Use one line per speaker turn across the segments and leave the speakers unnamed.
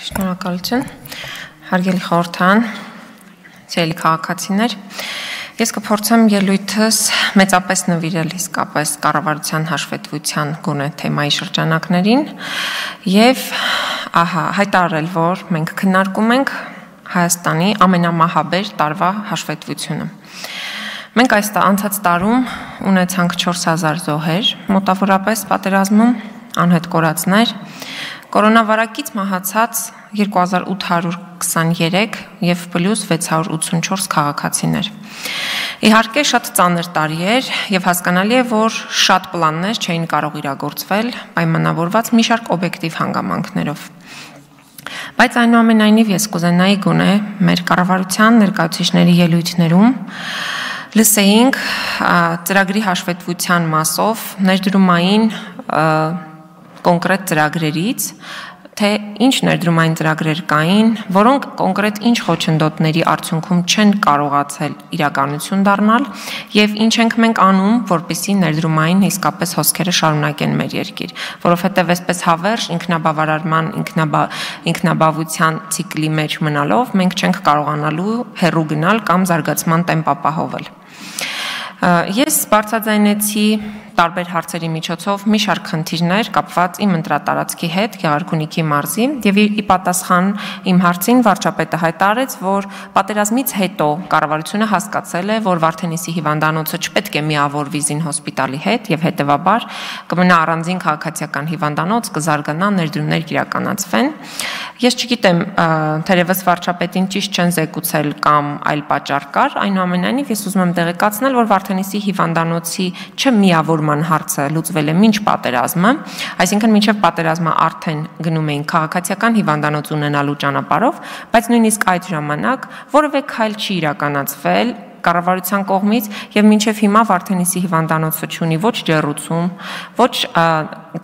Շնորհակալություն, հարգելի խորհրդան, սիրելի քաղաքացիներ, ես կփորձեմ ելույթս մեծապես նվիրել իսկապես կառավարության հաշվետվության գոնե թեմայի շրջանակներին եւ հայտարարել, որ մենք քննարկում ենք Հայաստանի ամենամահաբեր տարվա հաշվետվությունը։ Մենք այս անցած տարում ունեցանք 4000 զոհեր, մոտավորապես պատերազմում անհետ կորածներ, կորոնավարակից մահացած 2823 եւ պլյուս 684 քաղաքացիներ։ Իհարկե շատ ծանր տարի էր եւ հասկանալի է, որ շատ պլաններ չէին կարող իրագործվել, պայմանավորված մի շարք օբյեկտիվ հանգամանքներով։ Բայց այնուամենայնիվ ես կուզենայի գոնե մեր կառավարության ներկայացուցիչների ելույթներում լսեինք ծրագրի հաշվետվության մասով ներդրումային կոնկրետ ծրագրերից, թե ինչ ներդրումային ծրագրեր կային, որոնք կոնկրետ ինչ խոչընդոտների արդյունքում չեն կարողացել իրականություն դառնալ եւ ինչ ենք մենք անում, որպեսզի ներդրումային իսկապես հոսքերը շարունակեն մեր երկիր, որովհետեւ այսպես հավերժ ինքնաբավարարման, ինքնաբավության ցիկլի մեջ մնալով մենք չենք կարողանալու հեռու գնալ կամ զարգացման տեմպ ապահովել։ Ես բարձրաձայնեցի տարբեր հարցերի միջոցով մի շարք խնդիրներ կապված իմ ընտրատարածքի հետ Գեղարքունիքի մարզի եւ ի պատասխան իմ հարցին վարչապետը հայտարարեց, որ պատերազմից հետո կառավարությունը հասկացել է, որ Վարդենիսի հիվանդանոցը չպետք է միավորվի Զին հոսպիտալի հետ եւ հետեւաբար կմնա առանձին քաղաքացիական հիվանդանոց, կզարգանա, ներդրումներ կիրականացվեն։ Ես չգիտեմ, թերևս վարչապետին ճիշտ չեն զեկուցել կամ այլ պատճառ կար, այնուամենայնիվ ես ուզում եմ տեղեկացնել, որ Վարդենիսի հիվանդանոցի չմիավորման հարցը լուծվել է մինչ պատերազմը, այսինքն մինչև պատերազմը արդեն գնում էին քաղաքացիական հիվանդանոց ունենալու ճանապարհով, բայց նույնիսկ այդ ժամանակ որևէ քայլ չի իրականացվել կառավարության կողմից եւ մինչեւ հիմա Վարդենիսի հիվանդանոցը չունի ոչ ջեռուցում, ոչ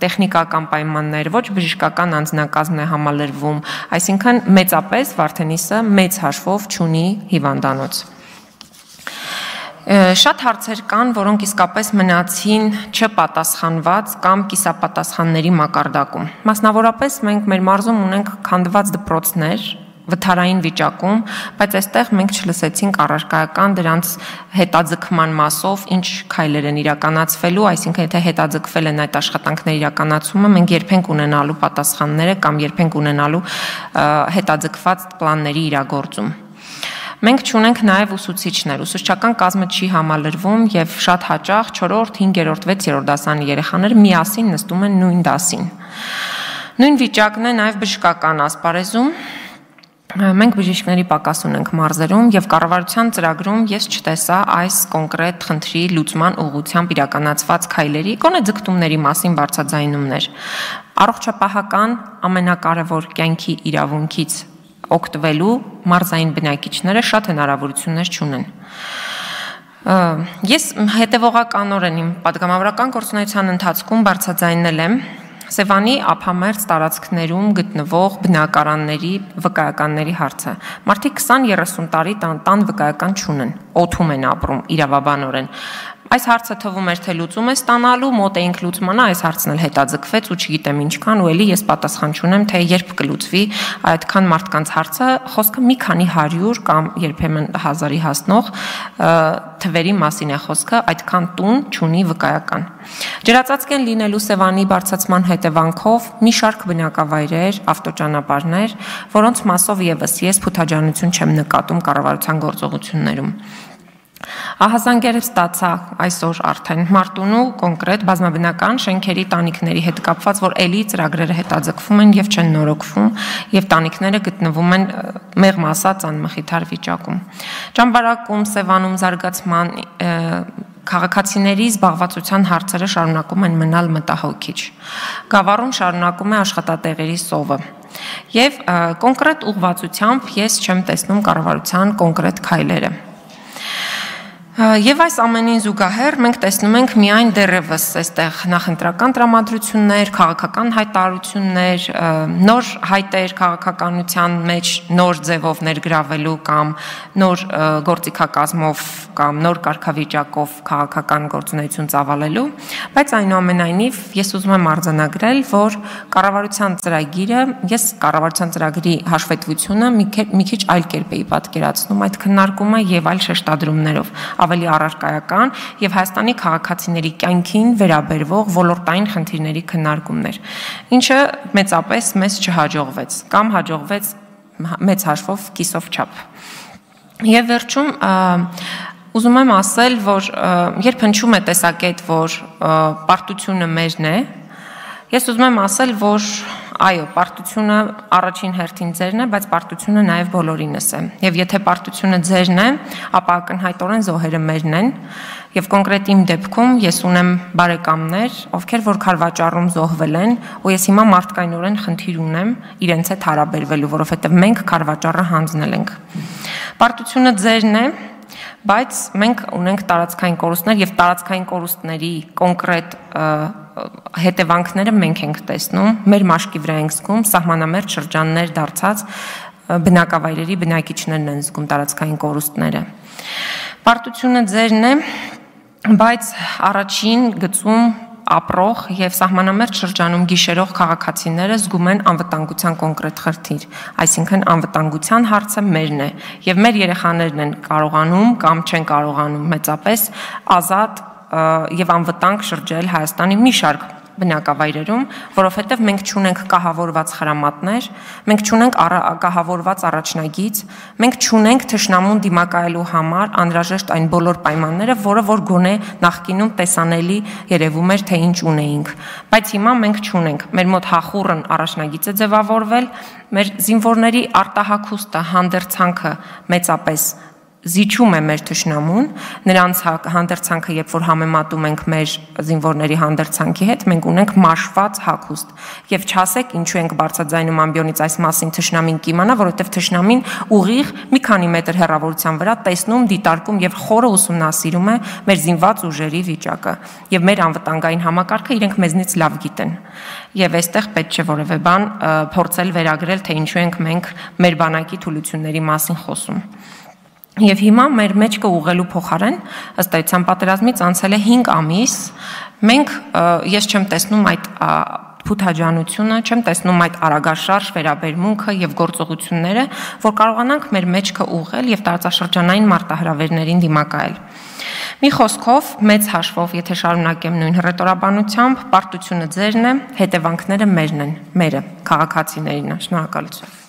տեխնիկական պայմաններ, ոչ բժշկական անձնակազմն է համալրվում, այսինքն մեծապես Վարդենիսը մեծ հաշվով չունի հիվանդանոց։ Շատ հարցեր կան, որոնք իսկապես մնացին չպատասխանված կամ կիսապատասխանների մակարդակում։ Մասնավորապես մենք մեր մարզում ունենք քանդված դպրոցներ, վթարային վիճակում, բայց այստեղ մենք չլսեցինք առարկայական դրանց հետաձգման մասով ինչ քայլեր են իրականացվելու, այսինքն եթե հետաձգվել են այդ աշխատանքների իրականացումը, մենք երբենք ունենալու պատասխանները կամ երբենք ունենալու հետաձգված պլանների իրագործում։ Մենք չունենք նաև ուսուցիչներ, ուսուցչական կազմը չի համալրվում եւ շատ հաճախ 4-րդ, 5-րդ, 6-րդ դասանի երեխաներ միասին նստում են նույն դասին։ Նույն վիճակն է նաև բժշկական ասպարեզում։ Մենք բժիշկների պակաս ունենք մարզերում եւ կառավարության ծրագրում ես չտեսա այս կոնկրետ խնդրի լուծման ուղղությամբ իրականացված քայլերի, գոնե ձգտումների մասին բարձրաձայնումներ։ Առողջապահական ամենակարևոր կյանքի իրավունքից օգտվելու մարզային բնակիչները շատ հնարավորություններ չունեն։ Ես հետևողականորեն իմ պատգամավորական գործունեության ընթացքում բարձրաձայնել եմ Սևանի ափամերձ տարածքներում գտնվող բնակարանների վկայականների հարցը։ Մարդիկ 20-30 տարի տան վկայական չունեն, օդում են ապրում իրավաբանորեն։ Այս հարցը թվում էր, թե լուծում է ստանալու, մոտ էինք լուծմանը, այս հարցն էլ հետաձգվեց ու չգիտեմ ինչքան ու էլի ես պատասխան չունեմ, թե երբ կլուծվի այդքան մարդկանց հարցը, խոսքը մի քանի 100 կամ երբեմն 1000-ի հասնող թվերի մասին է խոսքը, այդքան տուն չունի վկայական։ Ջրածածկ են լինելու Սևանի բարձրացման հետևանքով մի շարք բնակավայրեր, ավտոճանապարհներ, որոնց մասով եւս ես փութաջանություն չեմ նկատում կառավարության գործողություններում։ Ահազանգերև ստացա այսօր արդեն Մարտունու կոնկրետ բազմաբնական շենքերի տանիքների հետ կապված, որ էլի ծրագրերը հետաձգվում են եւ չեն նորոգվում եւ տանիքները գտնվում են մեղմ ասած անմխիթար վիճակում։ Ճամբարակում, Սևանում զարգացման քաղաքացիների զբաղվածության հարցերը շարունակում են մնալ մտահոգիչ։ Գավառում շարունակում է աշխատատեղերի սովը։ Եվ կոնկրետ ուղղվածությամբ ես չեմ տեսնում կառավարության կոնկրետ քայլերը։ Եվ այս ամենին զուգահեռ մենք տեսնում ենք միայն դեռևս այստեղ նախընտրական տրամադրություններ, քաղաքական հայտարարություններ, նոր հայտեր քաղաքականության մեջ նոր ձևով ներգրավելու կամ նոր գործիքակազմով կամ նոր կարգավիճակով քաղաքական գործունեություն ծավալելու, բայց այնուամենայնիվ ես ուզում եմ արձանագրել, որ կառավարության ծրագիրը, ես կառավարության ծրագրի հաշվետվությունը մի քիչ այլ կերպ էի պատկերացնում այդ քննարկումը եւ այլ շեշտադրումներով, ավելի առարկայական եւ Հայաստանի քաղաքացիների կյանքին վերաբերվող ոլորտային խնդիրների քննարկումներ, ինչը մեծապես մեզ չհաջողվեց կամ հաջողվեց մեծ հաշվով կիսով չափ։ Եվ վերջում ուզում եմ ասել, որ երբ հնչում է տեսակետ, որ պարտությունը մերն է, ես ուզում եմ ասել, որ այո, պարտությունը առաջին հերթին ձերն է, բայց պարտությունը նաև բոլորինս է։ Եվ եթե պարտությունը ձերն է, ապա ակնհայտորեն զոհերը մերն են, եւ կոնկրետ իմ դեպքում ես ունեմ բարեկամներ, ովքեր որ քարվաճառում զոհվել են, ու ես հիմա մարդկայնորեն խնդիր ունեմ իրենց հետ հարաբերվելու, որովհետեւ մենք քարվաճառը հանձնել ենք։ Պարտությունը ձերն է, բայց մենք ունենք տարածքային կորուստներ եւ տարածքային կորուստների կոնկրետ հետևանքները մենք ենք տեսնում, մեր մաշկի վրա ենք զգում, սահմանամերձ շրջաններ դարձած բնակավայրերի բնակիչներն են զգում տարածքային կորուստները։ Պարտությունը ձերն է, բայց առաջին գծում ապրող եւ սահմանամերձ շրջանում գիշերող քաղաքացիները զգում են անվտանգության կոնկրետ խնդիր, այսինքն անվտանգության հարցը մերն է եւ մեր երեխաներն են կարողանում կամ չեն կարողանում մեծապես ազատ եւ անվտանգ շրջել Հայաստանի մի շարք բնակավայրերում, որովհետև մենք չունենք կահավորված խրամատներ, մենք չունենք կահավորված առաջնագիծ, մենք չունենք թշնամուն դիմակայելու համար անհրաժեշտ այն բոլոր պայմանները, որը որ գոնե նախկինում տեսանելի երևում էր, թե ինչ ունեինք, բայց հիմա մենք չունենք, մեր մոտ հախուռն առաջնագիծ է ձևավորվել, մեր զինվորների արտահագուստը, հանդերձանքը մեծապես զիջում է մեր թշնամուն, նրանց հանդերձանքը, երբ որ համեմատում ենք մեր զինվորների հանդերձանքի հետ, մենք ունենք մաշված հագուստ։ Եվ չասեք ինչու ենք բարձրաձայնում ամբիոնից այս մասին թշնամին կիմանա, որովհետև թշնամին ուղիղ մի քանի մետր հեռավորության վրա տեսնում, դիտարկում եւ խորը ուսումնասիրում է մեր զինված ուժերի վիճակը։ Եվ մեր անվտանգային համակարգը իրենք մեզնից լավ գիտեն։ Եվ այստեղ պետք չէ որևէ բան փորձել վերագրել, թե ինչու ենք մենք մեր բանակի թուլությունների մասին խոսում։ Եվ հիմա մեր մեջքը ուղղելու փոխարեն ըստ այդության պատերազմից անցել է 5 ամիս, մենք ես չեմ տեսնում այդ փութաջանությունը, չեմ տեսնում այդ արագաշարժ վերաբերմունքը եւ գործողությունները, որ կարողանանք մեր մեջքը ուղղել եւ տարածաշրջանային մարտահրավերներին դիմակայել։ Մի խոսքով, մեծ հաշվով, եթե շարունակեմ նույն հռետորաբանությամբ, պարտությունը ձերն է, հետևանքները մերն են, մերը, քաղաքացիներինը։ Շնորհակալություն։